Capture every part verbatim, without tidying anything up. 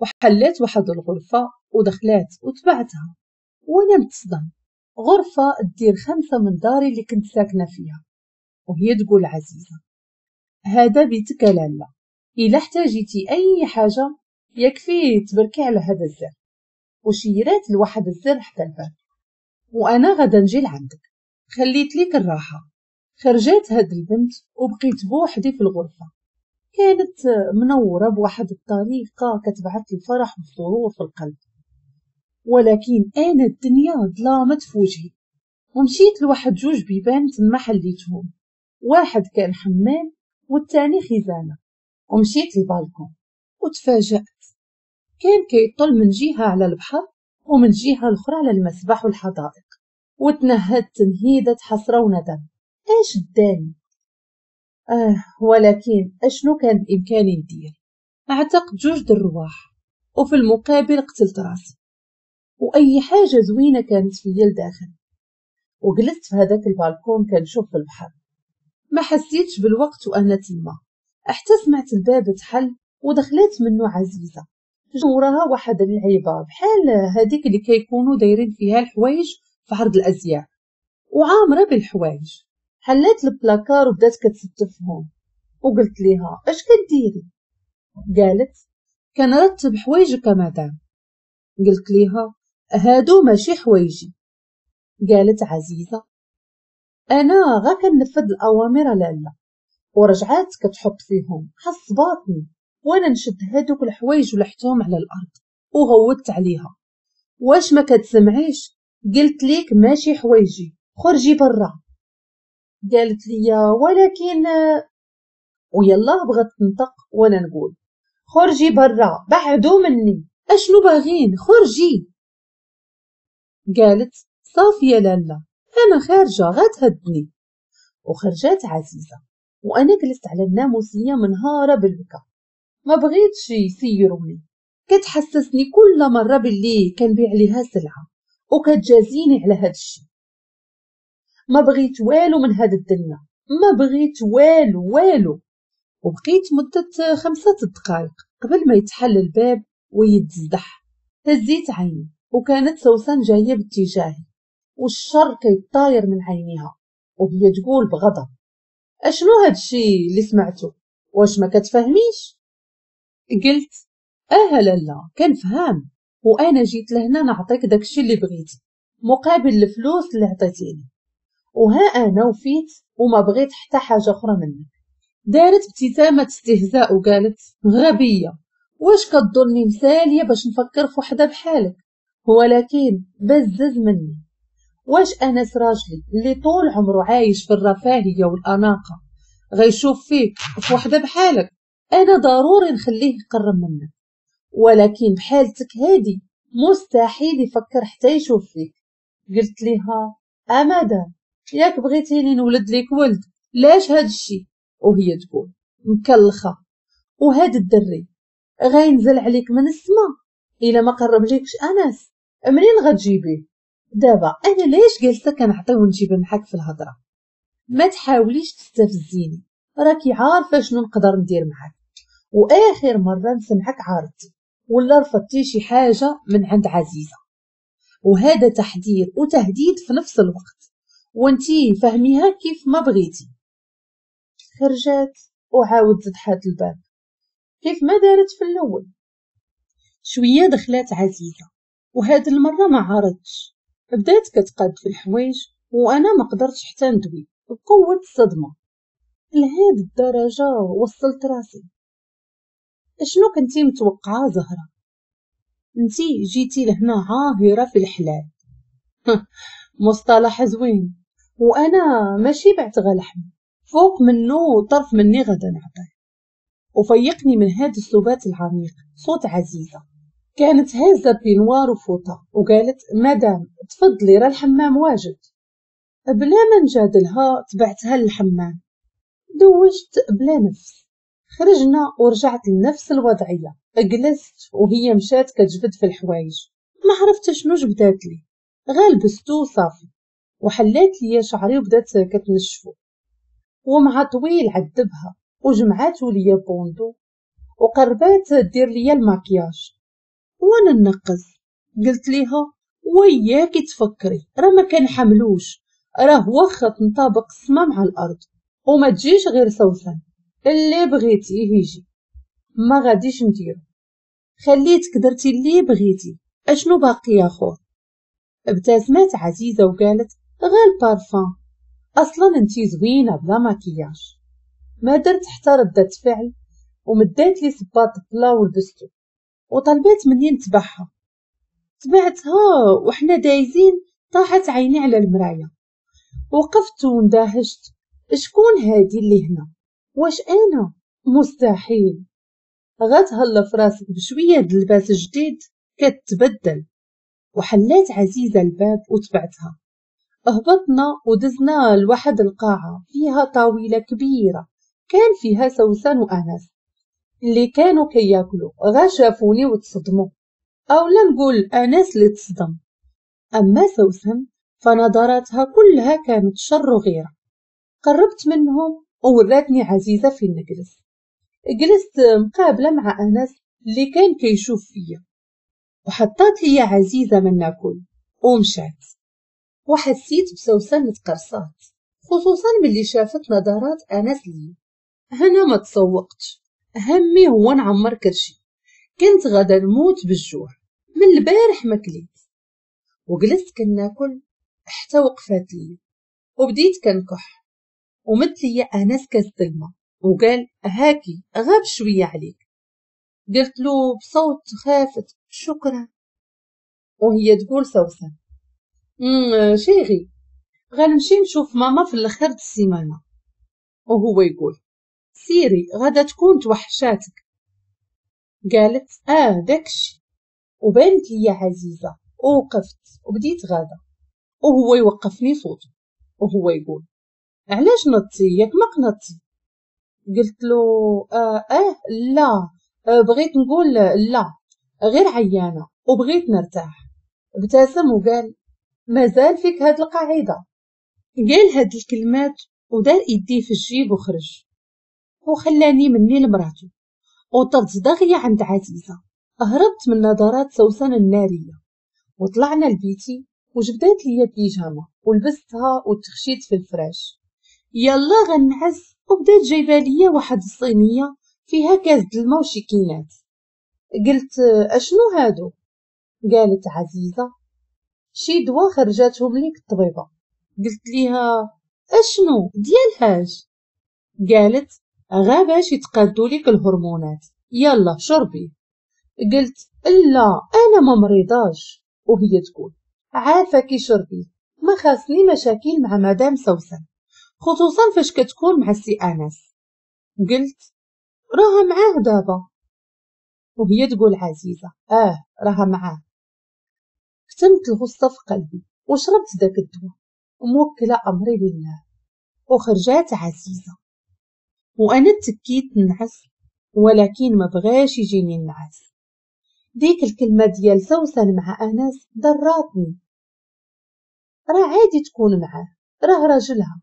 وحلات واحد الغرفة ودخلات وتبعتها وانا نتصدم. غرفة دير خمسة من داري اللي كنت ساكنة فيها. وهي تقول عزيزة هذا بيتك لالا، إلا احتاجيتي أي حاجة يكفي تبركي على هذا الزر. وشيرات لواحد الزر حتى الباب، وأنا غدا نجي لعندك، خليت ليك الراحة. خرجت هاد البنت وبقيت بوحدي في الغرفة. كانت منورة بواحد الطريقة كتبعث الفرح والسرور في القلب، ولكن أنا الدنيا ظلامت في وجهي. ومشيت لواحد جوج بيبان تما حليتهم، واحد كان حمام والثاني خزانة. ومشيت للبالكون وتفاجأت، كان كيطل من جهة على البحر ومن جهة الأخرى على المسبح والحدائق. وتنهدت تنهيدة حسرة وندم، اش داني؟ اه ولكن اشنو كان بامكاني ندير؟ اعتقد جوج الرواح وفي المقابل قتلت راسي واي حاجة زوينة كانت فيا لداخل. وجلست في هذاك البالكون كنشوف في البحر. ما حسيتش بالوقت وانا تما حتى سمعت الباب تحل ودخلت منه عزيزه، وراها واحد اللعيبة بحال هذيك اللي كيكونوا دايرين فيها الحوايج في عرض الازياء وعامره بالحوايج. حلات البلاكار وبدات كتستفهم، وقلت ليها اش كديري؟ قالت كنرتب حوايجك مدام. قلت ليها هادو ماشي حوايجي. قالت عزيزه انا غا كنفذ الاوامر لالا. ورجعات كتحط فيهم، حصباتني وانا نشد هادوك الحوايج ولحتهم على الارض وغوتت عليها واش ما كتسمعيش؟ قلت ليك ماشي حوايجي، خرجي برا. قالت لي ولكن، ويلا بغات تنطق وانا نقول خرجي برا، بعدو مني، اشنو باغين، خرجي. قالت صافي يا لالا انا خارجه غتهدني. وخرجات عزيزه وانا جلست على الناموسيه منهاره بالبكا، ما بغيتش يسيروني. كتحسسني كل مرة باللي كنبيع ليها سلعه وكتجازيني على هذا الشيء. ما بغيت والو من هاد الدنيا، ما بغيت والو والو. وبقيت مدة خمسة دقائق قبل ما يتحل الباب ويتزدح. هزيت عيني وكانت سوسن جاية باتجاهي والشر كيطاير من عينيها، وهي تقول بغضب اشنو هاد الشيء اللي سمعته؟ واش ما كتفهميش؟ قلت اه لالا كنفهم، وانا جيت لهنا نعطيك داكشي اللي بغيتي مقابل الفلوس اللي عطيتيني، وها انا وفيت وما بغيت حتى حاجة اخرى منك. دارت ابتسامة استهزاء وقالت غبية، واش كتظني مثاليه باش نفكر في وحده بحالك؟ ولكن بزز مني. واش انس راجلي اللي طول عمره عايش في الرفاهية والاناقه غيشوف فيك في وحده بحالك؟ انا ضروري نخليه يقرب منك، ولكن بحالتك هادي مستحيل يفكر حتى يشوف فيك. قلت لها امادا ياك بغيتيني نولد ليك ولد، لاش هاد الشي؟ وهي تقول مكلخه، وهاد الدري غينزل عليك من السما الا ما قرب ليكش انس، منين غتجيبيه؟ دابا انا ليش جالسة كنعطي ونجيب معاك في الهضرة؟ ما تحاوليش تستفزيني، راكي عارفه شنو نقدر ندير معاك. واخر مرة نسمعك عارضتي ولا رفضتي شي حاجة من عند عزيزه، وهذا تحذير وتهديد في نفس الوقت، وانتي فهميها كيف ما بغيتي. خرجات وعاود زدحات الباب كيف ما دارت في الاول. شوية دخلات عزيزه وهاد المرة ما عارضتش، بدات كتقاد في الحوايج وانا ما قدرتش حتى ندوي بقوة الصدمة. لهاد الدرجة وصلت راسي؟ اشنو كنتي متوقعه زهره؟ انتي جيتي لهنا عاهره في الحلال مصطلح زوين، وانا ماشي بعت غا لحم فوق منو طرف مني غدا نعطيه. وفيقني من هاد السبات العميق صوت عزيزه، كانت هازه peignoir وفوطه وقالت مدام تفضلي راه الحمام واجد. بلا ما نجادلها تبعتها للحمام، دوجت بلا نفس. خرجنا ورجعت لنفس الوضعية، جلست وهي مشات كتجبد في الحوايج، ما عرفت شنو جبدات لي، غالبستو صافي. وحلات لي شعري وبدات كتنشفو، ومع طويل عذبها وجمعاتو ليا bandeau وقربات دير ليا الماكياج. وانا ننقز. قلت ليها وياكي تفكري، راه ما كنحملوش، راه واخا تنطابق السما مع الارض وما تجيش غير سوسن، اللي بغيتيه يجي ما غاديش نديرو، خليتك درتي اللي بغيتي، اشنو باقي يا خور؟ ابتسمت عزيزه وقالت غير البارفان، اصلا انتي زوينة بلا مكياج. ما درت حتى ردة فعل ومدات لي صباط plat ولبستو وطلبات مني نتبعها. تبعتها وحنا دايزين طاحت عيني على المراية، وقفت واندهشت، شكون هادي اللي هنا؟ واش انا؟ مستحيل. غتهلا في راسك بشوية د اللباس الجديد كتبدل. وحلات عزيزه الباب وتبعتها. هبطنا ودزنا لواحد القاعة فيها طاولة كبيرة كان فيها سوسن وانس اللي كانوا كياكلوا، غا شافوني وتصدموا، او لا نقول انس اللي تصدم. اما سوسن فنظراتها كلها كانت شر وغيره. قربت منهم ووراتني عزيزه فين نجلس. جلست مقابله مع انس اللي كان كيشوف فيا، وحطات لي عزيزه من ناكل ومشات. وحسيت بسوسن تقرصات، خصوصا ملي شافت نظرات انس لي. هنا ما تسوقتش، همي هو نعمر كرشي، كنت غادا نموت بالجوع من البارح ما كليت. وجلست كناكل حتى وقفات لي وبديت كنكح، ومد لي انس كاس الماء وقال هاكي غاب شوية عليك. قلت له بصوت خافت شكرا. وهي تقول سوسن امم chérie غنمشي نشوف ماما في الاخر د السيمانة. وهو يقول سيري غادا تكون توحشاتك. قالت اه داكشي. وبانت لي عزيزه ووقفت وبديت غاده، وهو يوقفني صوته وهو يقول علاش نضتي ياك ما قنطتي؟ قلت له آه, اه لا آه بغيت نقول لا غير عيانه وبغيت نرتاح. ابتسم وقال مازال فيك هاد القاعدة. قال هاد الكلمات ودار ايديه في الجيب وخرج وخلاني مني لمراته. وطرت دغيا عند عزيزه، هربت من نظرات سوسن النارية. وطلعنا لبيتي وجبدات لي بيجامه ولبستها وتخشيت في الفراش. يلا غنعس وبدات جايبه ليا واحد الصينية فيها كاس د الماء وشي كينات. قلت اشنو هادو؟ قالت عزيزه شي دوا خرجاتهم ليك الطبيبة. قلت ليها اشنو ديالهاش؟ قالت غا باش يتقادوا ليك الهرمونات، يلا شربي. قلت لا انا ما مريضاش. وهي تقول عافاكي شربي، ما خاصني مشاكل مع مدام سوسن، خصوصا فاش كتكون مع السي انس. قلت راها معاه دابا. وهي تقول عزيزه اه راها معاه. كتمت الغصة في قلبي وشربت داك الدواء وموكله امري لله. وخرجات عزيزه وانا تكيت نعس، ولكن ما بغاش يجيني النعاس. ديك الكلمة ديال سوسن مع انس ضراتني. راه عادي تكون معاه، راه راجلها،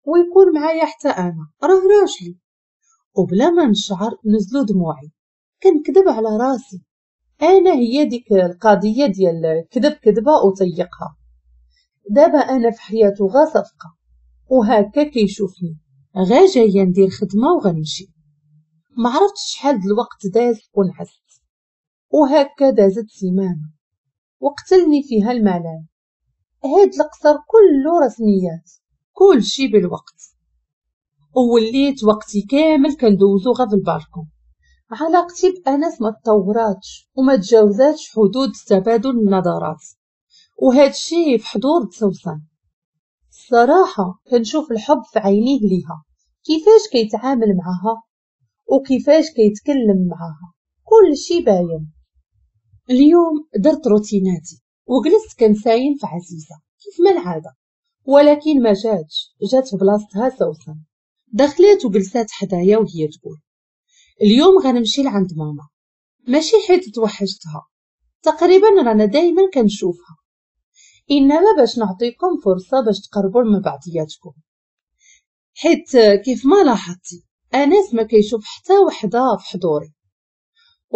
ويكون معايا حتى انا راه راجلي. وبلا ما نشعر نزلوا دموعي، كنكذب على راسي. انا هي ديك القضية ديال كذب كذبه وطيقها. دابا انا في حياته غا صفقة، وهكا كيشوفني غا جاية ندير خدمة وغنمشي. ما عرفتش شحال د الوقت داز ونعست، وهكا دازت سيمانه وقتلني فيها الملل. هاد القصر كله رسميات، كل شي بالوقت، ووليت وقتي كامل كندوزو غا في البالكون. علاقتي بأنس ما تطوراتش وما تجاوزاتش حدود تبادل النظرات، وهاد الشي في حضور سوسن. الصراحة كنشوف الحب في عينيه ليها، كيفاش كيتعامل معها وكيفاش كيتكلم معها، كل شي باين. اليوم درت روتيناتي وجلست كنساين في عزيزه كيف ما العادة، ولكن ما جاتش، جات في بلاصتها سوسن. دخلت وجلسات حدايا وهي تقول اليوم غنمشي لعند ماما، ماشي حيت توحشتها، تقريبا رانا دايما كنشوفها، انما باش نعطيكم فرصة باش تقربوا من بعضياتكم، حيت كيف ما لاحظتي انس ما كيشوف حتى وحده في حضوري.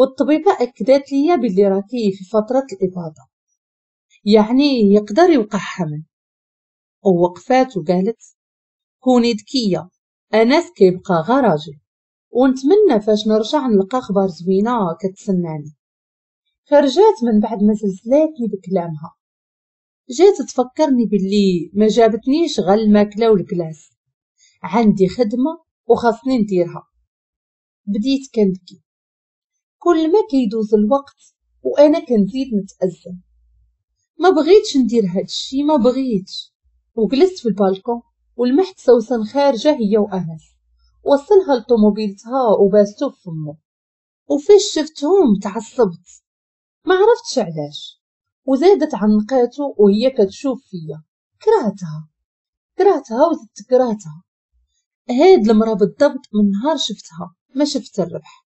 والطبيبه اكدت لي باللي راكي في فترة الاباضة، يعني يقدر يوقع حمل. ووقفات وقالت كوني ذكية، انس كيبقى غا راجل، ونتمنى فاش نرجع نلقى اخبار زوينة كتسناني. خرجات من بعد ما زلزلاتني بكلامها، جات تفكرني باللي ما جابتنيش غير الماكلة والكلاس، عندي خدمة وخاصني نديرها. بديت كنبكي، كل ما كيدوز الوقت وانا كنزيد نتأزم، ما بغيتش ندير هادشي، ما بغيتش. وجلست في البالكون ولمحت سوسن خارجه هي وانس، وصلها لطوموبيلتها وباستو في فمو. وفاش شفتهم تعصبت، ما عرفتش علاش، وزادت عنقاتو وهي كتشوف فيا. كرهتها كرهتها وزدت كرهتها. هاد المرا بالضبط من نهار شفتها ما شفت الربح،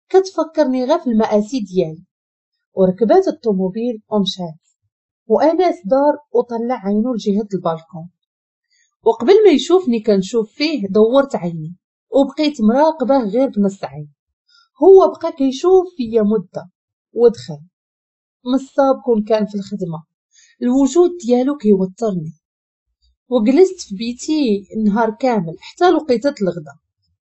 كتفكرني غير في المآسي ديالي. وركبات الطوموبيل ومشات، وانس دار وطلع عينو لجهة البالكون، وقبل ما يشوفني كنشوف فيه دورت عيني وبقيت مراقبة غير بنص عين. هو بقى كيشوف فيا مده ودخل. مصاب كون كان في الخدمة، الوجود ديالو كيوترني. وجلست في بيتي النهار كامل حتى لقيتة الغدا،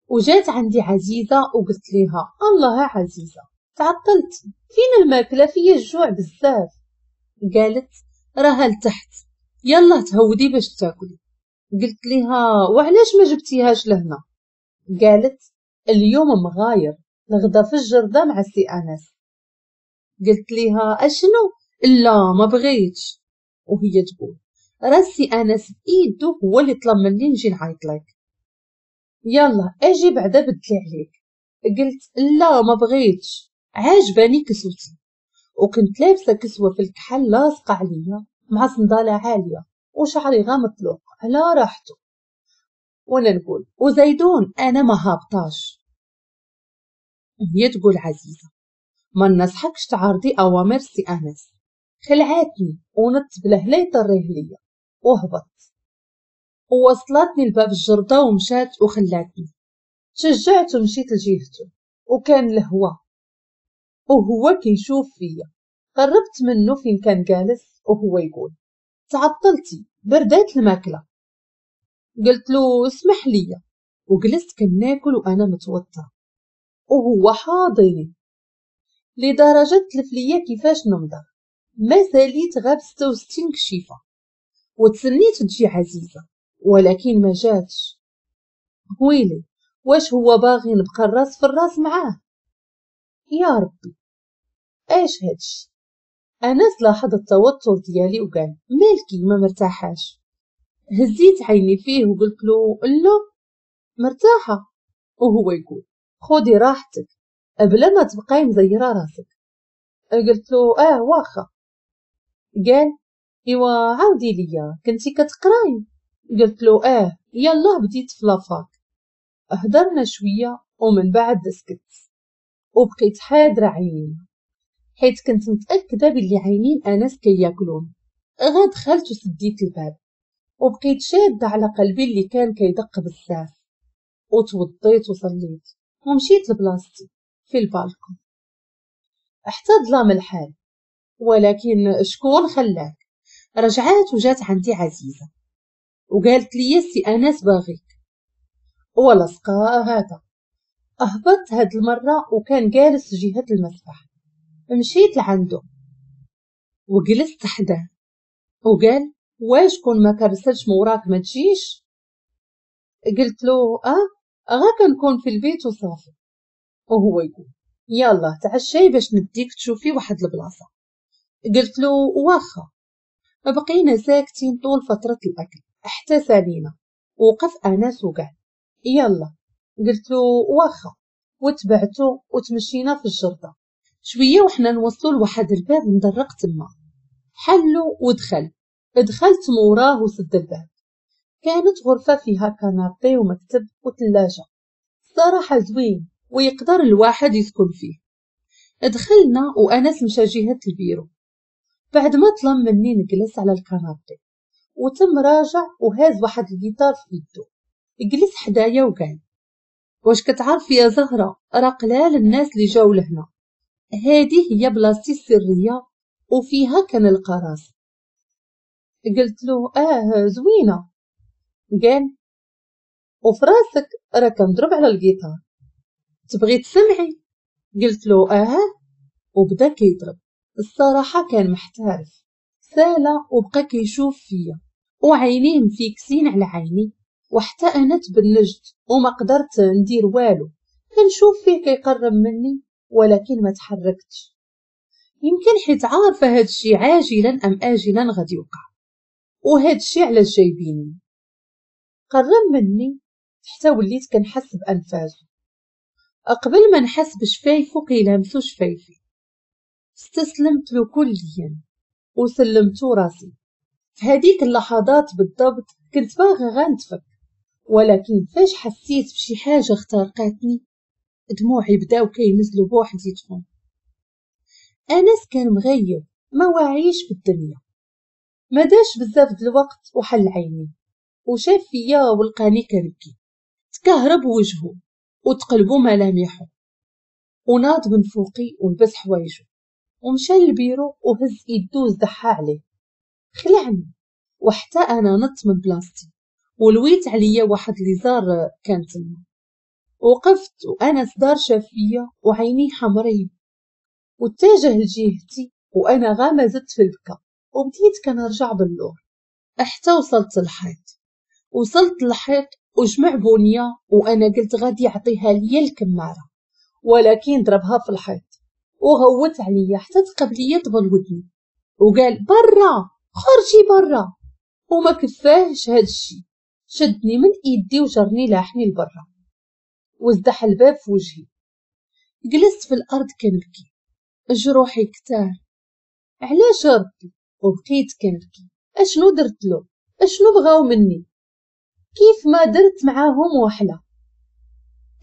وجات عندي عزيزه وقلت ليها الله يا عزيزه تعطلت، فين الماكلة؟ فيا الجوع بزاف. قالت راها لتحت، يلا تهودي باش تاكلي. قلت ليها وعلاش ما جبتيهاش لهنا؟ قالت اليوم مغاير، الغدا في الجرده مع السي انس. قلت ليها اشنو؟ لا ما بغيتش. وهي تقول راه السي انس بايدو هو اللي طلب مني نجي نعيط لك، يلا اجي بعدا بدلي عليك. قلت لا ما بغيتش، عاجباني كسوتي. وكنت لابسه كسوه في الكحل لاصقه عليا مع صنداله عالية وشعري غا مطلوق على راحته، وانا نقول وزيدون انا ما هابطاش. وهي تقول عزيزه ما نصحكش تعارضي اوامر سي انس. خلعاتني ونط بلهلا يطريه ليا وهبط، ووصلتني لباب الجرده ومشات وخلاتني. شجعت ومشيت لجهته، وكان الهوا وهو كيشوف فيا. قربت منه فين كان جالس وهو يقول تعطلتي بردات الماكلة. قلت له اسمح لي، وجلست كناكل وانا متوترة وهو حاضني لدرجة تلف ليا كيفاش نمضغ. ما ساليت غير بستة وستين كشيفه، وتسنيت تجي عزيزه ولكن ما جاتش. ويلي واش هو باغي نبقى الراس في الراس معاه؟ يا ربي ايش هادشي؟ انس لاحظ التوتر ديالي وقال مالكي ما مرتاحاش؟ هزيت عيني فيه وقلت له لا مرتاحة. وهو يقول خدي راحتك بلا ما تبقاي مزيره راسك. قلت له اه واخا. قال ايوا عاودي ليا كنتي كتقراي؟ قلت له اه يلا بديت في la fac. هدرنا شوية ومن بعد سكت، وبقيت حاضره عيني حيت كنت متاكدة باللي عينين انس كياكلون. غا دخلت وسديت الباب وبقيت شاده على قلبي اللي كان كيدق بزاف، وتوضيت وصليت ومشيت لبلاصتي في البالكون حتى ظلام الحال. ولكن شكون خلاك؟ رجعات وجات عندي عزيزه وقالت لي سي انس باغيك. ولصقا هذا. اهبطت هاد المرة وكان جالس جهة المسبح. مشيت لعنده وجلست حداه وقال واش كون ما كرسلش موراك ما تجيش؟ قلت له اه غا كنكون في البيت وصافي. وهو يقول يلا تعشي باش نديك تشوفي واحد البلاصة. قلت له واخا. بقينا ساكتين طول فترة الاكل حتى سالينا. وقف انس وقال يلا. قلت له واخا، وتبعته وتمشينا في الجرده شوية وحنا نوصلوا لواحد الباب مدرق تما. حلو ودخل. دخلت موراه وسد الباب. كانت غرفة فيها canapé ومكتب وثلاجه، صراحة زوين ويقدر الواحد يسكن فيه. دخلنا وانس مشى جهة البيرو بعد ما طلب مني نجلس على ال canapé، وتم راجع وهاز واحد الجيتار في يدو. جلس حدايا وقال واش كتعرفي يا زهره راه قلال الناس اللي جاو لهنا هذه هي بلاصتي السرية وفيها كنلقى راسي. قلت له اه زوينة. قال وفراسك راه كنضرب على الجيتار، تبغي تسمعي؟ قلت له اه، وبدا كيضرب. الصراحة كان محترف. سالا وبقى كيشوف فيا وعينيه مفيكسين على عيني، وحتى انا تبنجت وما قدرت ندير والو. كنشوف فيه كيقرب مني ولكن ما تحركتش، يمكن حيت عارفه هادشي عاجلا ام اجلا غادي يوقع، وهادشي علاش جايبيني. قرب مني حتى وليت كنحس بانفاسه قبل ما نحس بشفايفو كيلامسو شفايفي. استسلمت له كليا وسلمت راسي. في هذيك اللحظات بالضبط كنت باغا غنتفك، ولكن فاش حسيت بشي حاجة اخترقتني دموعي بداو كينزلوا بوحديتهم. انس كان مغيب، ما واعيش بالدنيا. ما داش بزاف د الوقت وحل عيني وشاف فيا ولقاني كنبكي. تكهرب وجهه وتقلبو ملامحه وناض من فوقي ولبس حوايجه ومشى للبيرو وهز يدو وزدحها عليه. خلعني وحتى انا نط من بلاصتي ولويت عليا واحد ليزار كان تما. وقفت وانا صدار شاف فيا وعيني حمرين واتجه لجهتي وانا غامزت في البكا وبديت كنرجع باللور حتى وصلت للحيط. وصلت للحيط وجمع بونيه وانا قلت غادي يعطيها ليا الكماره، ولكن ضربها في الحيط وغوت عليا حتى تقبل ليا طبل ودني وقال برا، خرجي برا. وما كفاهش هادشي، شدني من ايدي وجرني لاحني لبرا وزدح الباب في وجهي. جلست في الارض كنبكي، جروحي كتار. علاش ربي؟ وبقيت كنبكي. اشنو درت له؟ اشنو بغاو مني؟ كيف ما درت معاهم وحله.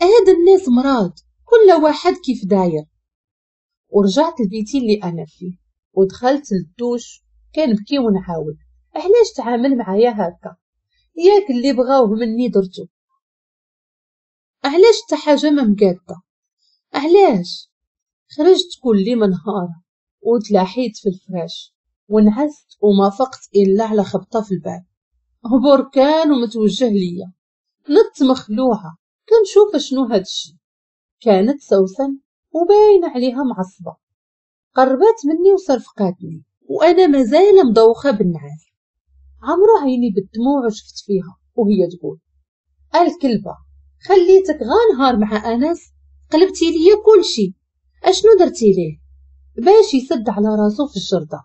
هاد الناس مرض، كل واحد كيف داير. ورجعت لبيتي اللي انا فيه ودخلت للدوش كنبكي ونعاود علاش تعامل معايا هكا؟ ياك اللي بغاوه مني درتو، علاش حتى حاجة ما مقاده؟ علاش؟ خرجت كلي منهاره وتلاحيت في الفراش ونعست وما فقت الا على خبطه في الباب. بركان ومتوجه ليا. نط مخلوعه كنشوف شنو هادشي. كانت سوسن وباين عليها معصبة. قربت مني وصرفقاتني وانا مازال مدوخه بالنعاس. عمرو عيني بالدموع وشفت فيها وهي تقول الكلبة خليتك غا نهار مع انس قلبتي ليا كلشي، اشنو درتي ليه باش يسد على راسو في الجرده؟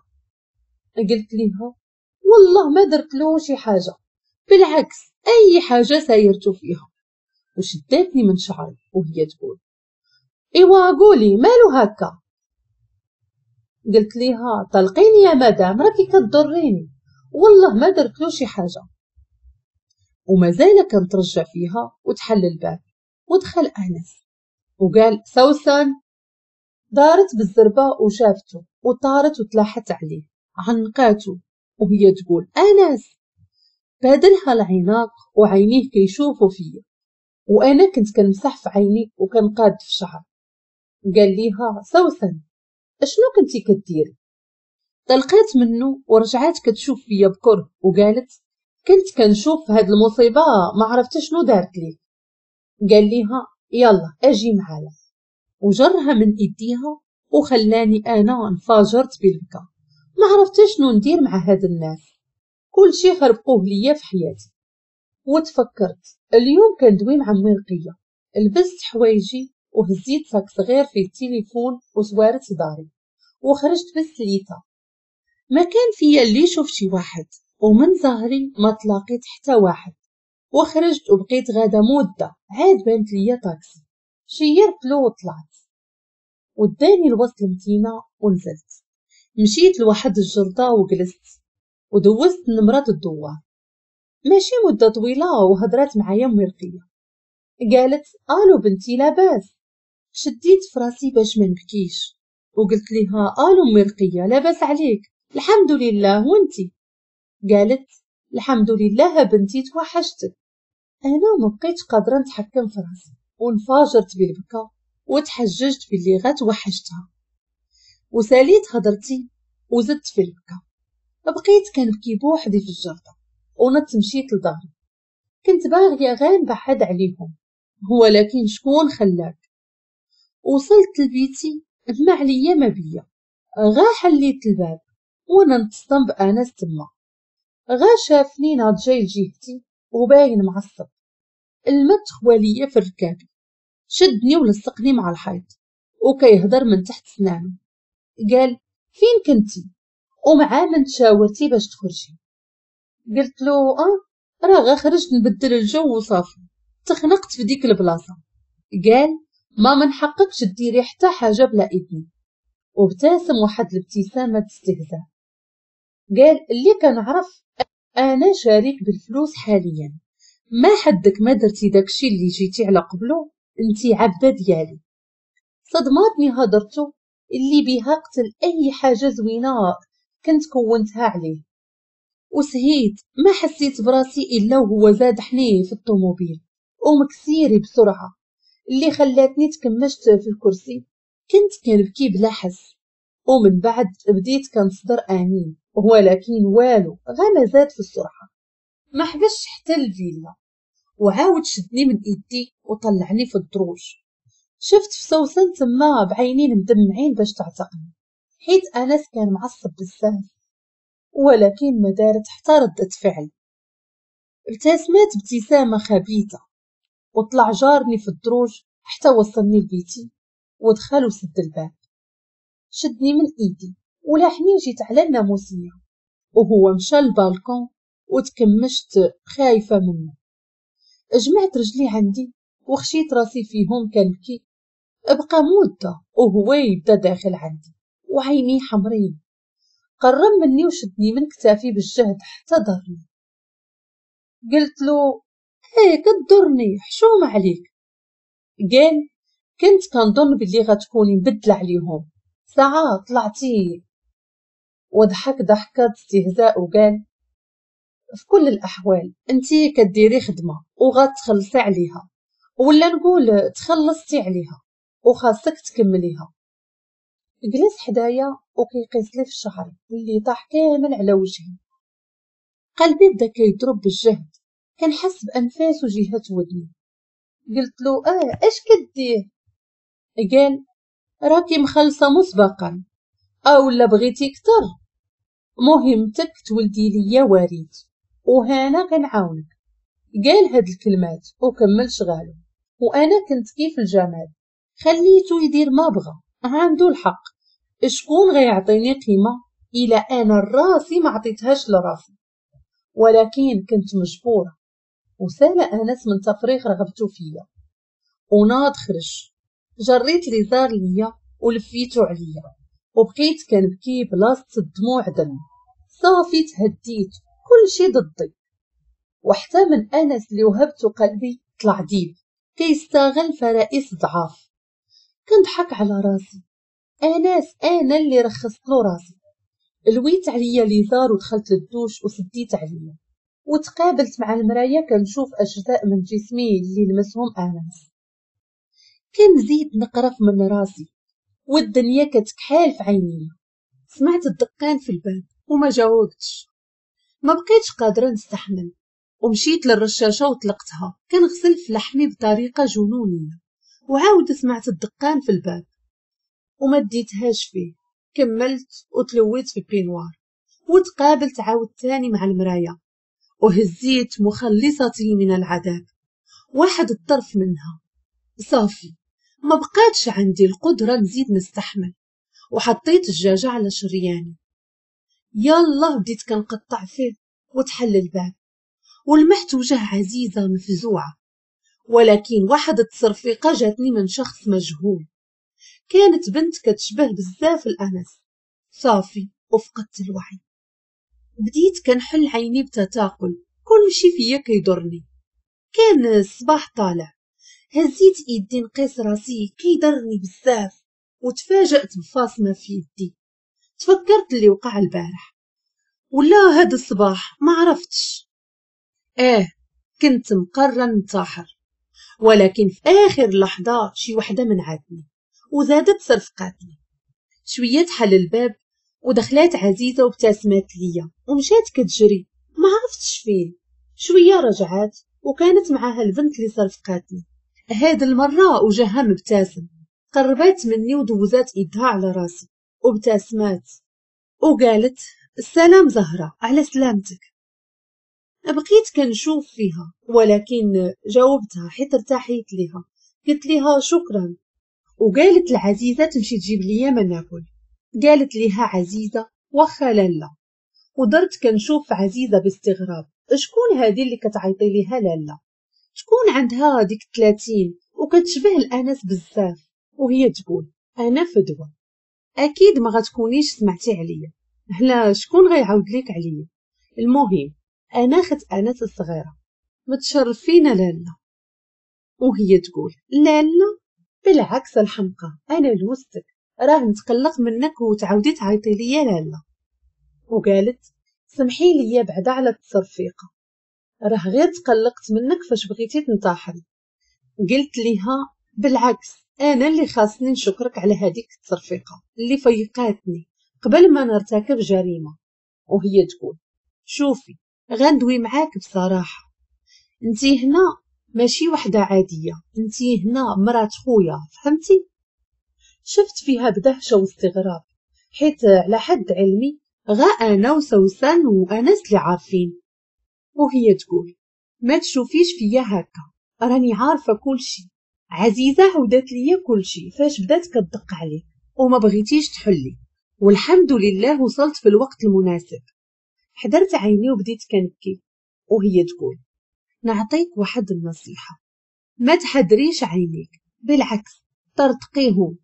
قلت ليها والله ما درت له شي حاجة، بالعكس اي حاجة سايرتو فيها. وشدتني من شعري وهي تقول ايوا قولي مالو هكا؟ قلت ليها طلقيني يا مدام راكي كتضريني، والله ما درت له شي حاجة. ومازال كنترجع فيها وتحل الباب ودخل انس وقال سوسن. دارت بالزربه وشافته وطارت وتلاحت عليه عنقاته وهي تقول انس. بادلها العناق وعينيه كيشوفوا فيا وانا كنت كنمسح في عيني وكنقاد في شعري. قال ليها سوسن اشنو كنتي كديري؟ طلقات منه ورجعات كتشوف فيا بكره وقالت كنت كنشوف هاد المصيبة ما عرفت شنو دارت لي. قال ليها يلا اجي معايا، وجرها من ايديها وخلاني انا انفجرت بالبكا. ما عرفت شنو ندير مع هاد الناس، كلشي خربقوه ليا في حياتي. وتفكرت اليوم كندوي مع امي رقيه، لبست حوايجي وهزيت sac صغير فيه التليفون وسوارت داري وخرجت بالسليته. ما كان فيا اللي يشوف شي واحد، ومن ظهري ما تلاقيت حتى واحد. وخرجت وبقيت غاده مده، عاد بانت ليا طاكسي، شيرت له وطلعت وداني لوسط المدينة ونزلت. مشيت لواحد الجرده وجلست ودوزت نمرة الدوار. ماشي مده طويلة وهضرات معايا امي رقيه، قالت الو بنتي لاباس. شديت فراسي باش ما نبكيش وقلت لها الو امي رقيه لاباس عليك؟ الحمد لله وانتي؟ قالت الحمد لله بنتي توحشتك. انا ما بقيتش قادرة نتحكم في راسي وانفجرت بالبكا وتحججت باللي غا توحشتها. وساليت هضرتي وزدت في البكا، بقيت كنبكي بوحدي في الجردة ونط مشيت لداري. كنت باغية غير نبعد عليهم، ولكن شكون خلاك؟ وصلت لبيتي ما عليا ما بيا، غا حليت الباب وانا نتصدم بانس تما. غا شافني ناض جاي لجهتي وباين معصب، الماء تخواليا في الركابي، شدني ولصقني مع الحيط وكيهضر من تحت سنانو. قال فين كنتي ومع من تشاورتي باش تخرجي؟ قلت له اه راه غا خرجت نبدل الجو وصافي، تخنقت في ديك البلاصة. قال ما من حقكش ديري حتى حاجة بلا اذني، وابتسم واحد الابتسامة استهزاء. قال اللي كنعرف انا شريك بالفلوس حاليا، ما حدك ما درتي داكشي اللي جيتي على قبلو، انتي عبده ديالي. صدماتني هضرتو اللي بها قتل اي حاجة زوينة كنت كونتها عليه. وسهيت ما حسيت براسي الا وهو زاد حني في الطوموبيل ومكسيري بسرعة اللي خلاتني تكمشت في الكرسي. كنت كنبكي بلا حس، ومن بعد بديت كنصدر انين، ولكن والو غا ما زاد في السرعة، ما حبسش حتى الفيلا. وعاود شدني من ايدي وطلعني في الدروج. شفت في سوسن تما بعينين مدمعين باش تعتقني، حيت انس كان معصب بزاف، ولكن ما دارت حتى ردة فعل. ابتسمت ابتسامة خبيثة وطلع جارني في الدروج حتى وصلني لبيتي ودخل وسد الباب. شدني من ايدي ولاحني جيت على الناموسيه، وهو مشى للبالكون وتكمشت خايفة منه. جمعت رجلي عندي وخشيت راسي فيهم كنبكي. ابقى مده وهو يبدا داخل عندي وعيني حمرين. قرب مني وشدني من كتافي بالجهد حتى ضرني. قلت له ايه كضرني، حشومه عليك. قال كنت كنظن بلي غتكوني مبدله عليهم، ساعة طلعتي. وضحك ضحكه استهزاء وقال في كل الاحوال انتي كديري خدمة وغتخلصي عليها، ولا نقول تخلصتي عليها وخاصك تكمليها. جلس حدايا وكيقيس لي في الشعر اللي طاح كامل على وجهي. قلبي بدا كيضرب بالجهد، كنحس بانفاسو جهة ودني. قلت له اه اش كدير؟ قال راكي مخلصة مسبقا، او لا بغيتي كتر، مهمتك تولدي ليا وريث وهانا كنعاونك. قال هاد الكلمات وكمل شغالو، وانا كنت كيف الجمال، خليته يدير ما بغى، عنده الحق. شكون غيعطيني قيمة الا انا راسي ما عطيتهاش لراسي؟ ولكن كنت مجبوره. وسال انس من تفريغ رغبته فيا وناض خرج. جريت لي زار ليا ولفيتو عليا وبقيت كنبكي بلاصة الدموع دم. صافي تهديت، كل شي ضدي، وحتى من انس اللي وهبته قلبي طلع ديب كيستغل فرائس ضعاف. كنضحك على راسي، انس انا اللي رخصت له راسي. لويت عليا ليزار ودخلت للدوش وسديت عليا وتقابلت مع المراية كنشوف اجزاء من جسمي اللي لمسهم انس. كنزيد نقرف من راسي والدنيا كتكحال في عيني. سمعت الدقان في الباب وما جاوبتش، ما بقيتش قادرة نستحمل ومشيت للرشاشه وطلقتها كنغسل في لحمي بطريقة جنونيه. وعاود سمعت الدقان في الباب وما ديتهاش فيه، كملت وتلويت في peignoir وتقابلت عاود تاني مع المراية وهزيت مخلصتي من العذاب واحد الطرف منها. صافي ما بقاتش عندي القدرة نزيد نستحمل، وحطيت الدجاجة على شرياني. يلا بديت كنقطع فيه وتحل الباب ولمحت وجه عزيزه مفزوعه، ولكن واحد التصرفيقه جاتني من شخص مجهول. كانت بنت كتشبه بزاف الانس. صافي وفقدت الوعي. بديت كنحل عيني بتثاقل، كل شي فيا كيضرني. كان الصباح طالع، هزيت ايدي نقيس راسي كيضرني بزاف، وتفاجأت بفاصمه في يدي. تفكرت اللي وقع البارح ولا هذا الصباح ما عرفتش. اه كنت مقررة ننتحر، ولكن في اخر لحظة شي وحده منعتني وزادت صرفقاتني. شوية تحل الباب ودخلات عزيزه وابتسمت ليا ومشات كتجري، ما عرفتش فين. شوية رجعات وكانت معاها البنت اللي صرفقاتني. هاد المرة وجهها مبتسم. قربات مني ودوزات ايدها على راسي وابتسمات وقالت السلام زهره، على سلامتك. بقيت كنشوف فيها ولكن جاوبتها حيت ارتاحيت ليها، قلت ليها شكرا. وقالت لعزيزه تمشي تجيب ليا ما ناكل. قالت ليها عزيزه واخا لالا. ودرت كنشوف عزيزه باستغراب، شكون هذه اللي كتعيطي ليها لالا؟ تكون عندها ديك ثلاثين وكتشبه الانس بزاف. وهي تقول انا فدوى، اكيد ما غتكونيش سمعتي عليا، لا شكون غيعاود ليك عليا؟ المهم انا خت انس الصغيرة، متشرفين لالا. وهي تقول لالا بالعكس الحمقى، انا لوستك، راه نتقلق منك وتعاودي تعيطي ليا لالا. وقالت سمحي لي بعدا على التصرفيقه، راه غير تقلقت منك فاش بغيتي تنتحري. قلت ليها بالعكس، انا اللي خاصني نشكرك على هذيك التصرفيقه اللي فيقاتني قبل ما نرتكب جريمة. وهي تقول شوفي غندوي معاك بصراحة، انتي هنا ماشي وحده عادية، انتي هنا مرات خويا، فهمتي؟ شفت فيها بدهشه واستغراب، حيت على حد علمي غا انا وسوسن وانس اللي عارفين. وهي تقول ما تشوفيش فيا هكا، راني عارفه كلشي، عزيزه عودات ليا كلشي فاش بدات كتدق عليك وما بغيتيش تحلي، والحمد لله وصلت في الوقت المناسب. حضرت عيني وبديت كنبكي. وهي تقول نعطيك واحد النصيحة، ما تحدريش عينيك، بالعكس طرطقيهم،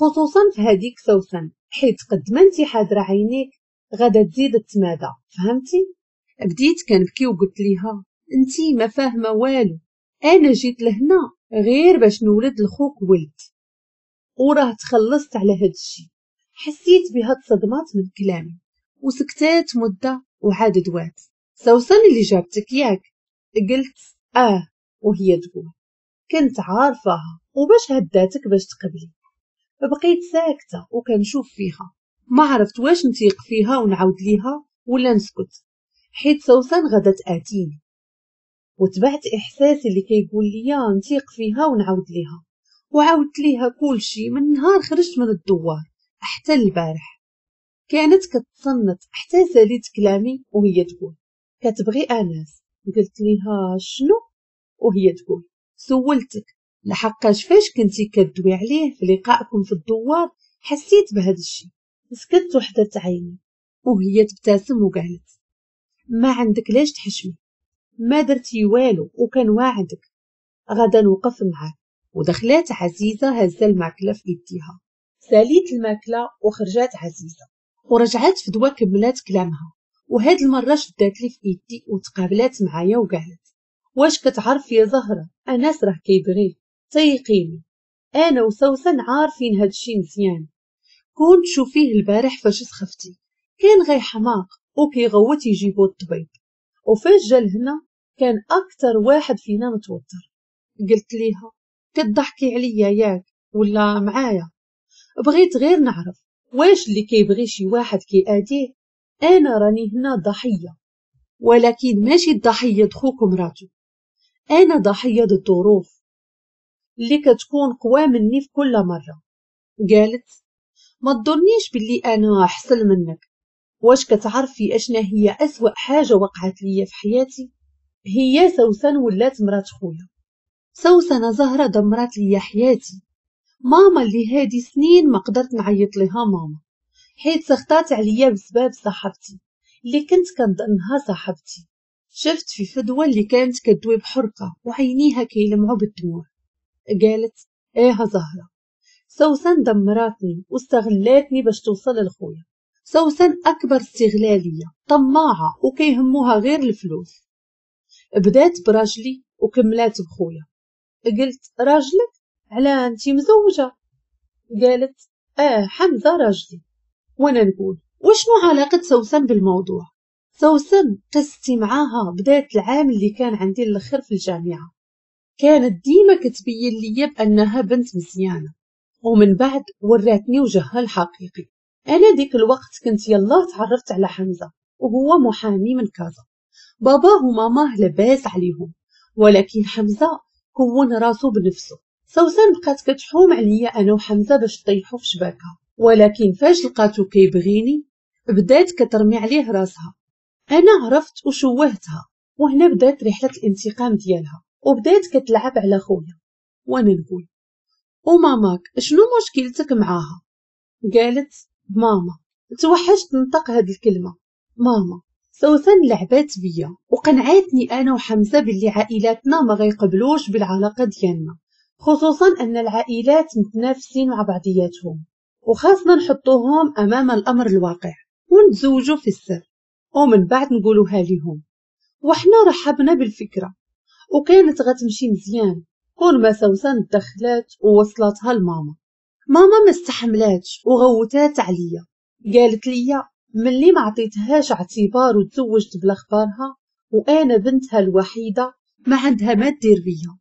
خصوصا في هذيك سوسن، حيت قد ما انت حاضره عينيك غادا تزيد التمادى، فهمتي؟ بديت كنبكي وقلت ليها انتي ما فاهمه والو، انا جيت لهنا غير باش نولد لخوك ولد، وراه تخلصت على هاد الشي. حسيت بها تصدمات من كلامي وسكتات مده وعاد دوات. سوسن اللي جابتك ياك؟ قلت اه. وهي تقول كنت عارفاها وباش هداتك باش تقبلي. بقيت ساكته وكنشوف فيها، ما عرفت واش نتيق فيها ونعاود ليها ولا نسكت، حيت سوسن غدا تاتيني. وتبعت احساسي اللي كيقول لي نتيق فيها ونعاود ليها، وعاودت ليها كلشي من نهار خرجت من الدوار حتى البارح. كانت كتصنت حتى ساليت كلامي وهي تقول كتبغي انس؟ قلت ليها شنو؟ وهي تقول سولتك لحقاش فاش كنتي كدوي عليه في لقائكم في الدوار حسيت بهذا الشيء. سكت وحدرت عيني وهي تبتسم وقالت ما عندك لاش تحشمي، ما درتي والو وكان واعدك غدا نوقف معاك. ودخلات عزيزه هزه الماكلة في يديها. ساليت الماكلة وخرجات عزيزه ورجعات فدوى كملات كلامها، وهاد المرة شدات لي في ايدي وتقابلات معايا وقالت واش كتعرف يا زهره انس راه كيبغيك، تيقيني انا وسوسن عارفين هادشي مزيان، كون تشوفيه البارح فاش سخفتي كان غير حماق وكيغوت يجيبو الطبيب، وفاش جا لهنا كان اكثر واحد فينا متوتر. قلت ليها كتضحكي عليا ياك ولا معايا؟ بغيت غير نعرف واش اللي كيبغي شي واحد كيأذيه؟ انا راني هنا ضحية، ولكن ماشي الضحية د خوك ومراتو، انا ضحية د الظروف اللي كتكون قوى مني في كل مرة. قالت ما تظنيش باللي انا احسن منك، واش كتعرفي اشنا هي اسوأ حاجة وقعت ليا في حياتي؟ هي سوسن ولات مرات خويا. سوسن زهره دمرات ليا حياتي، ماما اللي هادي سنين ما قدرت نعيط لها ماما، حيت سخطات عليا بسبب صاحبتي اللي كنت كنظنها صاحبتي. شفت في فدوى اللي كانت كدوي بحرقه وعينيها كيلمعوا بالدموع. قالت ايه زهره، سوسن دمراتني واستغلاتني باش توصل لخويا. سوسن اكبر استغلاليه، طماعه وكيهموها غير الفلوس. بدات براجلي وكملات بخويا. قلت راجلك؟ على انتي مزوجه؟ قالت اه حمزة راجلي. وانا نقول وشنو علاقة سوسن بالموضوع؟ سوسن قصتي معاها بدات العام اللي كان عندي الاخر في الجامعة، كانت ديما كتبين ليا بانها بنت مزيانه ومن بعد وراتني وجهها الحقيقي. انا ديك الوقت كنت يلا تعرفت على حمزة وهو محامي من كازا، باباه وماماه لاباس عليهم، ولكن حمزة كون راسو بنفسه. سوسن بقات كتحوم عليا انا وحمزة باش تطيحو في شباكها، ولكن فاش لقاتو كيبغيني بدات كترمي عليه راسها. انا عرفت وشوهتها، وهنا بدات رحله الانتقام ديالها وبدات كتلعب على خويا. وانا نقول وماماك شنو مشكلتك معاها؟ قالت ماما. توحشت نطق هاد الكلمة ماما. سوسن لعبات بيا وقنعتني انا وحمزة باللي عائلاتنا ما غيقبلوش بالعلاقة ديالنا، خصوصا ان العائلات متنافسين مع بعضياتهم وخاصنا نحطوهم امام الامر الواقع ونتزوجوا في السر ومن بعد نقولوها لهم. وحنا رحبنا بالفكرة وكانت غتمشي مزيان كون ما سوسن دخلات ووصلتها لماما. ماما ما استحملاتش وغوتات عليا، قالت لي ملي ما عطيتهاش اعتبار وتزوجت بلا خبارها وانا بنتها الوحيدة ما عندها ما دير بيا،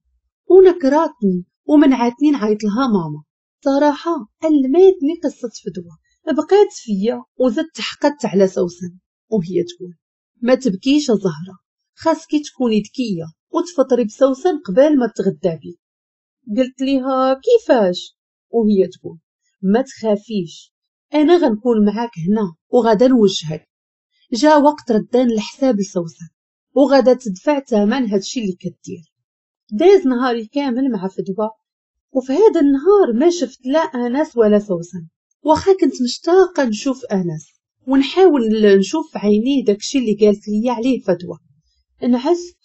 ونكراتني ومنعتني نعيط لها ماما. صراحة الماتني قصة فدوى، بقات فيا وزدت حقدت على سوسن. وهي تقول ما تبكيش زهره، خاصك تكوني ذكية وتفطري بسوسن قبل ما تغدى بيك. قلت ليها كيفاش؟ وهي تقول ما تخافيش انا غنكون معاك هنا وغادا نوجهك. جا وقت ردان الحساب لسوسن وغادا تدفع ثمن هادشي اللي كدير. داز نهاري كامل مع فدوى، وفي هذا النهار ما شفت لا انس ولا سوسن، واخا كنت مشتاقة نشوف انس ونحاول نشوف في عينيه داكشي اللي قالت لي عليه فدوى. انعست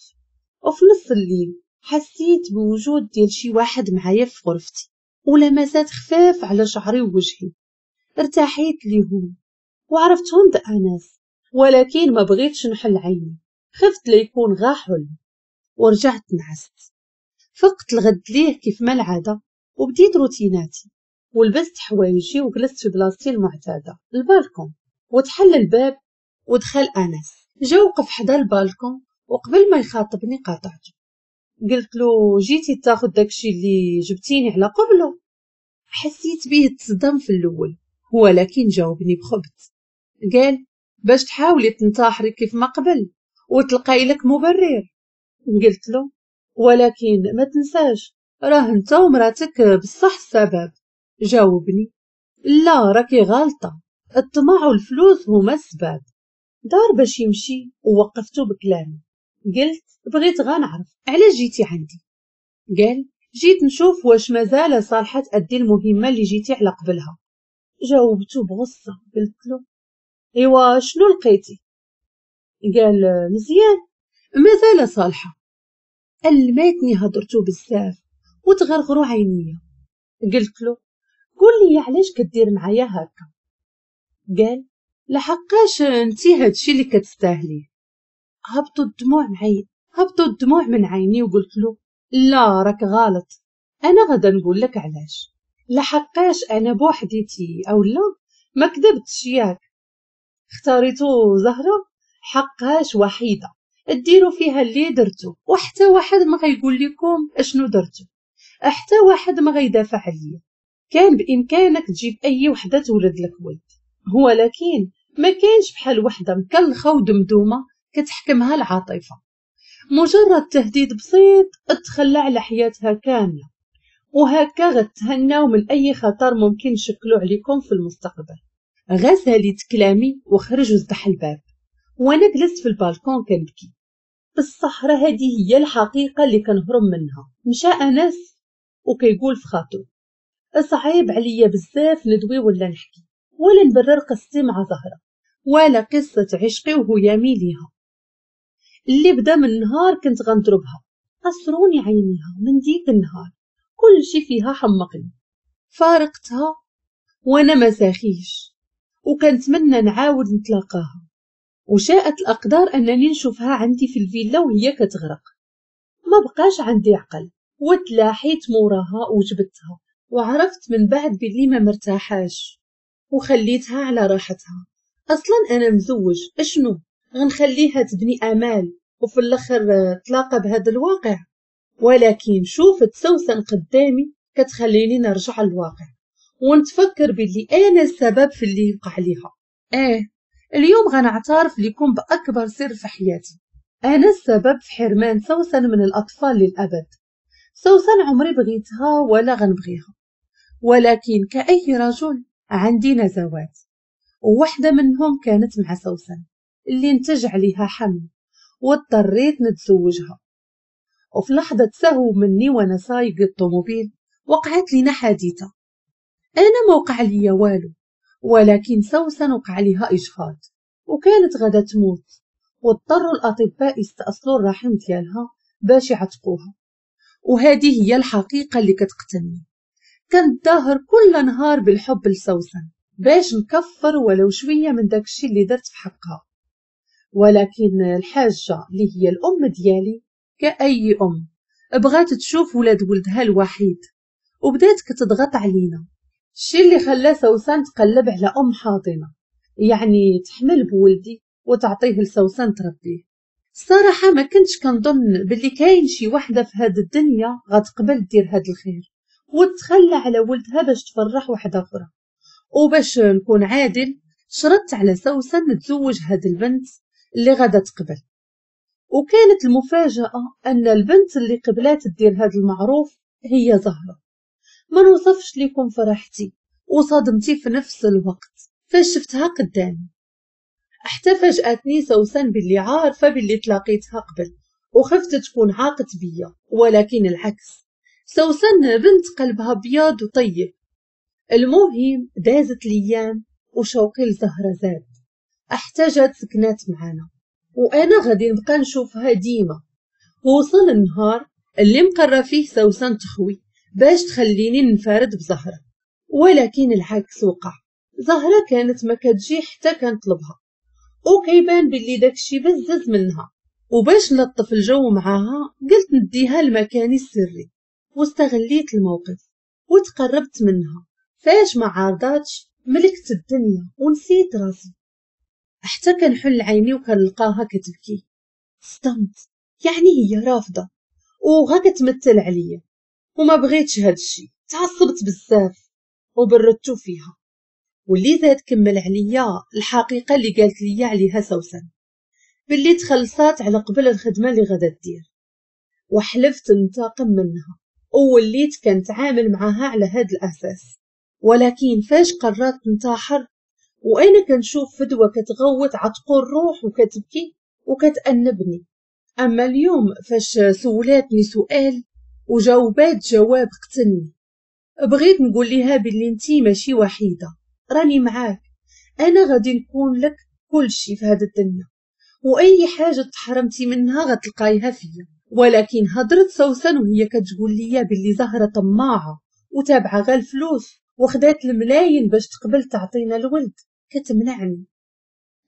وفي نص الليل حسيت بوجود ديال شي واحد معايا في غرفتي ولمسات خفاف على شعري ووجهي. ارتاحيت ليهم وعرفتهم دا انس، ولكن ما بغيتش نحل عيني، خفت ليكون غا حلم، ورجعت نعست. فقت الغد ليه كيف ما العادة وبديت روتيناتي ولبست حوايجي وجلست في بلاصتي المعتادة البالكون، وتحل الباب ودخل انس. جا وقف حدا البالكون وقبل ما يخاطبني قاطعته، قلت له جيتي تاخذ داكشي اللي جبتيني على قبله؟ حسيت به تصدم في الاول، ولكن جاوبني بخبث، قال باش تحاولي تنتحري كيف ما قبل وتلقاي لك مبرر. قلت له ولكن ما تنساش راه انت ومراتك بصح السبب. جاوبني لا راكي غالطه، الطمع والفلوس هما السبب. دار باش يمشي ووقفته بكلامي، قلت بغيت غنعرف علاش جيتي عندي؟ قال جيت نشوف واش مازال صالحه تأدي المهمة اللي جيتي على قبلها. جاوبته بغصه، قلت له ايوا شنو لقيتي؟ قال مزيان مازال صالحه. الماتني هضرتو بزاف وتغرغرو عينيا. قلت له قول لي علاش كدير معايا هكا؟ قال لحقاش انتي هادشي اللي كتستاهليه. هبطوا الدموع معي هبطوا الدموع من عيني وقلت له لا راك غلط، انا غادا نقول لك علاش. لحقاش انا بوحديتي او لا ما كذبتش ياك، اختاريتو زهره حقاش وحيده ديروا فيها اللي درتو وحتى واحد ما غيقول لكم اشنو درتو، حتى واحد ما غيدافع عليا. كان بامكانك تجيب اي وحده تولد لك ولد، ولكن ما كاينش بحال وحده مكلخه ودمدومه كتحكمها العاطفة. مجرد تهديد بسيط تخلى على حياتها كاملة، وهكا غتهناو من اي خطر ممكن نشكلو عليكم في المستقبل. غسلت كلامي وخرج وزدح الباب، وانا جلست في البالكون كنبكي. الصحراء هذه هي الحقيقة اللي كنهرب منها. مشى انس وكيقول في خاطرو صعيب عليا بزاف ندوي ولا نحكي ولا نبرر قصتي مع زهره ولا قصة عشقي وهيامي ليها اللي بدا من نهار كنت غنضربها. قصروني عينيها من ديك النهار، كل شي فيها حمقني. فارقتها وانا ما ساخيش، وكنتمنى نعاود نتلاقاها، وشاءت الأقدار أنني نشوفها عندي في الفيلا وهي كتغرق. ما بقاش عندي عقل وتلاحيت موراها وجبتها، وعرفت من بعد بلي ما مرتاحاش وخليتها على راحتها. أصلا أنا مزوج، أشنو غنخليها تبني آمال وفي الآخر تلاقى بهذا الواقع؟ ولكن شوفت سوسن قدامي كتخليني نرجع للواقع. ونتفكر باللي انا السبب في اللي وقع ليها. اه اليوم غنعترف لكم باكبر سر في حياتي، انا السبب في حرمان سوسن من الاطفال للابد. سوسن عمري بغيتها ولا غنبغيها، ولكن كأي رجل عندي نزوات، وواحدة منهم كانت مع سوسن اللي نتج عليها حمل واضطريت نتزوجها. وفي لحظة سهو مني وانا سايق الطوموبيل وقعت لينا حادثة، انا ما وقع ليا والو، ولكن سوسن وقع ليها اجهاض وكانت غادا تموت، واضطروا الاطباء يستأصلوا الرحم ديالها باش يعتقوها. وهذه هي الحقيقة اللي كتقتلني. كنتظاهر كل نهار بالحب لسوسن باش نكفر ولو شوية من داكشي اللي درت في حقها، ولكن الحاجة اللي هي الأم ديالي كأي أم بغات تشوف ولاد ولدها الوحيد، وبدات كتضغط علينا، الشي اللي خلى سوسن تقلب على أم حاضنة، يعني تحمل بولدي وتعطيه لسوسن تربيه. الصراحة ما كنتش كنظن باللي كاين شي وحدة في هاد الدنيا غتقبل دير هاد الخير وتخلى على ولدها باش تفرح وحدة أخرى. وباش نكون عادل شرطت على سوسن نتزوج هاد البنت اللي غادا تقبل، وكانت المفاجأة أن البنت اللي قبلات دير هاد المعروف هي زهرة. ما نوصفش لكم فرحتي وصدمتي في نفس الوقت فاش شفتها قدامي، حتى فاجأتني سوسن باللي عارفة باللي تلاقيتها قبل وخفت تكون عاقت بيا، ولكن العكس، سوسن بنت قلبها بياض وطيب. المهم دازت الايام وشوقي لزهرة زاد، احتاجت سكنات معانا وانا غادي نبقى نشوفها ديما. وصل النهار اللي مقرر فيه سوسن تخوي باش تخليني ننفرد بزهرة، ولكن العكس وقع. زهرة كانت ما كتجي حتى كنطلبها، وكيبان باللي داكشي بزز منها، وباش نلطف الجو معاها قلت نديها لمكاني السري، واستغليت الموقف وتقربت منها. فاش ما عارضاتش ملكت الدنيا ونسيت راسي، حتى كنحل عيني وكنلقاها كتبكي. صدمت، يعني هي رافضه وغا كتمثل عليا، وما بغيتش هادشي. تعصبت بزاف وبردتو فيها، واللي زاد كمل عليا الحقيقة اللي قالت لي عليها سوسن باللي تخلصات على قبل الخدمة اللي غادا دير، وحلفت ننتقم منها ووليت كنتعامل معاها على هاد الاساس. ولكن فاش قررت ننتحر وانا كنشوف فدوى كتغوت عتقو الروح وكتبكي وكتأنبني، اما اليوم فاش سولاتني سؤال وجاوبات جواب قتلني. بغيت نقول لها باللي انتي ماشي وحيده، راني معاك، انا غادي نكون لك كل شيء في هذا الدنيا، واي حاجة تحرمتي منها غتلقايها فيا. ولكن هضرت سوسن وهي كتقول لي باللي زهره طماعه وتابعه غير الفلوس وخدات الملايين باش تقبل تعطينا الولد، كتمنعني.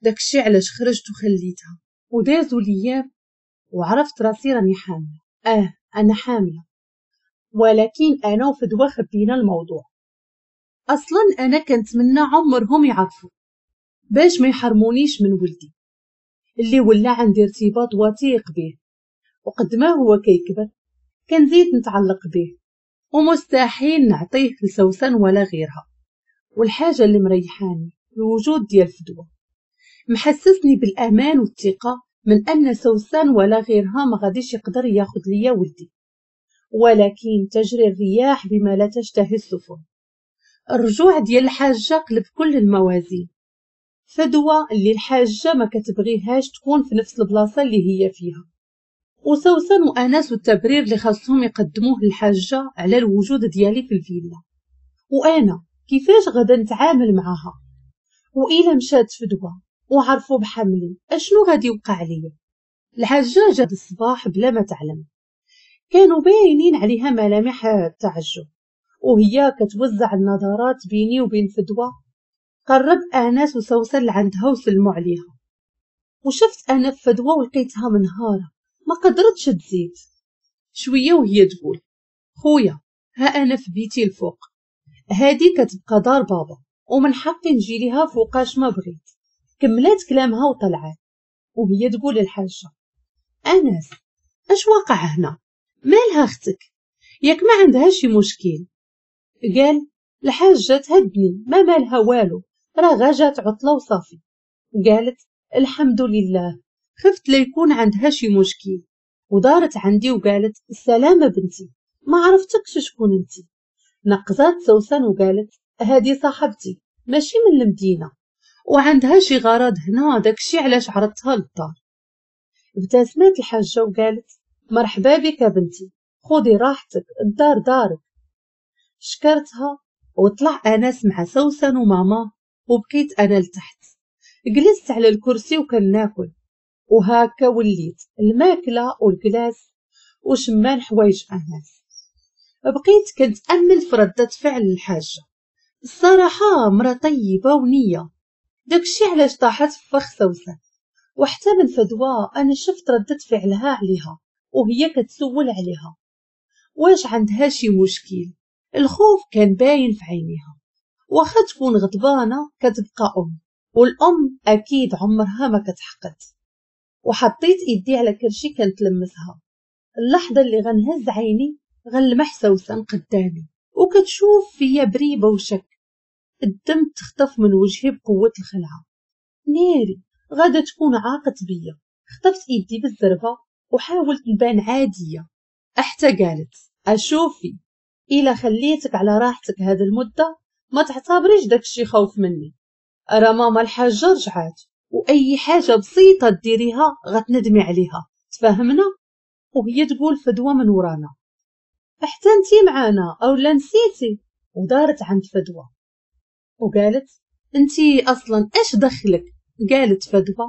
داكشي علاش خرجت وخليتها. ودازوا الايام وعرفت راسي راني حامله. اه انا حامله، ولكن انا وفدوى خبينا الموضوع. اصلا انا كنتمنى عمرهم يعرفوا باش ما يحرمونيش من ولدي اللي ولا عندي ارتباط وثيق به، وقد ما هو كيكبر كنزيد نتعلق به، ومستحيل نعطيه لسوسن ولا غيرها. والحاجة اللي مريحاني الوجود ديال فدوى، محسسني بالامان والثقة من ان سوسن ولا غيرها ما غاديش يقدر ياخذ ليا ولدي. ولكن تجري الرياح بما لا تشتهي السفن. الرجوع ديال الحاجة قلب كل الموازين. فدوى اللي الحاجة ما كتبغيهاش تكون في نفس البلاصة اللي هي فيها، وسوسن وانس والتبرير اللي خاصهم يقدموه للحاجة على الوجود ديالي في الفيلا، وانا كيفاش غادا نتعامل معاها؟ والا مشات فدوى وعرفوا بحملي اشنو غادي يوقع ليا؟ الحاجة جات الصباح بلا ما تعلم، كانوا باينين عليها ملامح التعجب وهي كتوزع النظرات بيني وبين فدوى. قرب انس وسوسن لعندها وسلموا عليها، وشفت انا في فدوى ولقيتها منهاره ما قدرتش تزيد شوية، وهي تقول خويا ها انا في بيتي الفوق، هادي كتبقى دار بابا ومن حقي نجي ليها فوقاش ما بغيت. كملات كلامها وطلعت وهي تقول للحاجة انس اش واقع هنا؟ مالها اختك؟ ياك ما عندها شي مشكل؟ قال الحاجة تهدني، ما مالها والو، راه غا جات عطله وصافي. قالت الحمد لله، خفت لا يكون عندها شي مشكل. ودارت عندي وقالت السلامة بنتي، ما عرفتكش شكون انتي. نقزات سوسن وقالت هذه صاحبتي ماشي من المدينة وعندها شي غرض هنا، داكشي علاش عرضتها للدار. ابتسمت الحاجة وقالت مرحبا بك بنتي، خذي راحتك، الدار دارك. شكرتها وطلع انس مع سوسن وماما، وبقيت انا لتحت. جلست على الكرسي وكناكل، وهاكا وليت الماكلة والكلاس وشمان حوايج انس. بقيت كنتامل في رده فعل الحاجة. الصراحة مرا طيبة ونيه، داكشي علاش طاحت في فخ سوسن. وحتى من فدوى انا شفت رده فعلها عليها وهي كتسول عليها واش عندها شي مشكل. الخوف كان باين في عينيها، واخا تكون غضبانه كتبقى ام، والام اكيد عمرها ما كتحقد. وحطيت ايدي على كرشي كنتلمسها. اللحظة اللي غنهز عيني غنلمح سوسن قدامي وكتشوف فيا بريبه وشك. الدم تخطف من وجهي بقوة الخلعة. ناري غادا تكون عاقت بيا. خطفت ايدي بالزربه وحاولت نبان عادية. حتى قالت اشوفي الا خليتك على راحتك هذه المدة ما تعتبريش داكشي خوف مني، راه ماما الحاجة رجعات واي حاجة بسيطة ديريها غتندمي عليها، تفهمنا؟ وهي تقول فدوى من ورانا حتى انتي معانا او لا نسيتي؟ ودارت عند فدوى وقالت انتي اصلا اش دخلك؟ قالت فدوى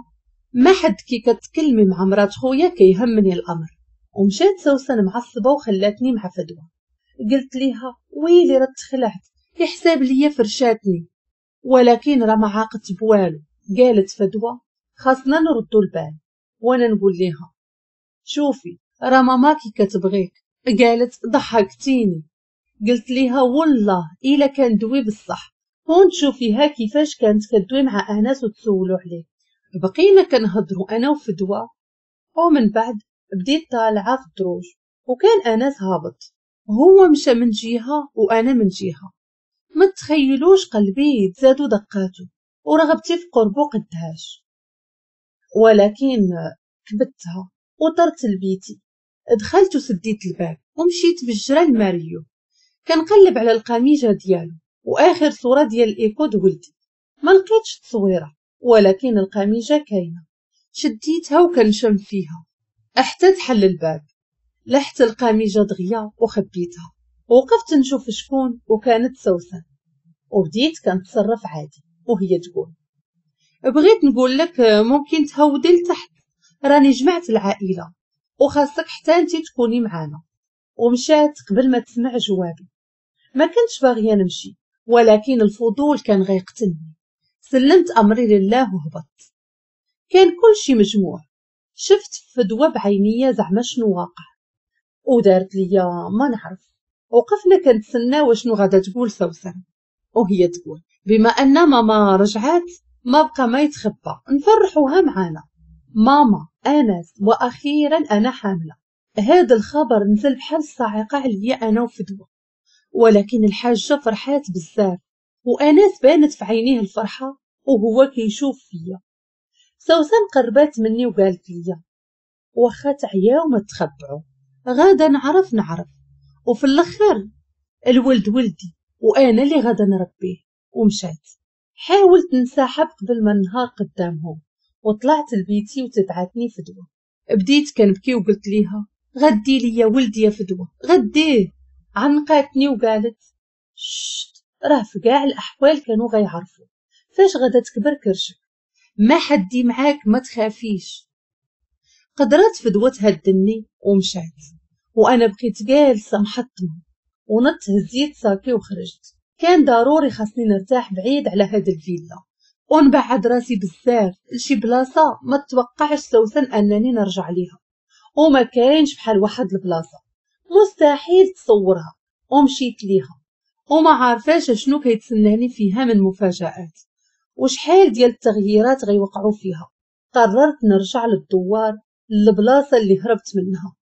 ما حد كي كتكلمي مع مرات خويا كيهمني الامر. ومشات سوسن معصبة وخلاتني مع فدوى. قلت ليها ويلي راه تخلعت، يحساب ليا فرشاتني، ولكن راه ما عاقت بوالو. قالت فدوى خاصنا نردو البال. وانا نقول ليها شوفي راه ماماكي كتبغيك. قالت ضحكتيني. قلت ليها والله الا كان دوي بصح، هون تشوفيها كيفاش كانت كدوي مع انس وتسولو عليه. بقينا كنهضروا انا وفدوى، ومن بعد بديت طالعه في الدروج وكان انس هابط، هو مشى من جهة وانا من جهة. ما تخيلوش قلبي تزادو دقاتو ورغبتي في قربو قدهاش، ولكن كبتها وطرت لبيتي. دخلت وسديت الباب ومشيت بالجرى لماريو كنقلب على القميجه ديالو واخر صوره ديال الايكود ولدي. ما لقيتش التصويره ولكن القميجه كاينه، شديتها وكنشم فيها حتى تحل الباب. لحت القميجه دغيا وخبيتها، وقفت نشوف شكون، وكانت سوسن. وبديت كنتصرف عادي وهي تقول بغيت نقول لك ممكن تهودي لتحت، راني جمعت العائلة وخاصك حتى انتي تكوني معانا. ومشات قبل ما تسمع جوابي. ما كنتش باغية نمشي ولكن الفضول كان غيقتلني. سلمت امري لله وهبطت. كان كل شي مجموع. شفت فدوى بعينيا زعما شنو واقع، ودارت ليا ما نعرف. وقفنا كنتسناو شنو غادا تقول سوسن، وهي تقول بما ان ماما رجعات ما بقى ما يتخبى، نفرحوها معانا. ماما انس واخيرا انا حامله. هذا الخبر نزل بحال الصاعقة عليا انا وفدوى، ولكن الحاجة فرحات بزاف، وانس بانت في عينيه الفرحة وهو كيشوف فيا. سوسن قربات مني وقالت لي واخا تعياو ما تخبعوا، غادا نعرف نعرف، وفي الاخر الولد ولدي وانا اللي غادا نربيه. ومشات. حاولت نسحب قبل ما النهار قدامهم، وطلعت لبيتي وتبعتني فدوى. بديت كنبكي وقلت ليها غدي ليا ولدي يا فدوى غديه. عنقاتني وقالت شت، راه في كاع الاحوال كانوا غيعرفوا فاش غادا تكبر كرشك، ما حدي معاك ما تخافيش. قدرت فدوى تهدني ومشات، وانا بقيت جالسة محطمه. ونط هزيت ساكي وخرجت. كان ضروري خاصني نرتاح بعيد على هاد الفيلا ونبعد راسي بزاف لشي بلاصة ما توقعش سوسن انني نرجع ليها، وما كاينش بحال واحد البلاصة مستحيل تصورها. ومشيت ليها وما عارفاش شنو كيتسناني فيها من مفاجآت وشحال ديال التغييرات غيوقعوا فيها. قررت نرجع للدوار، للبلاصه اللي هربت منها.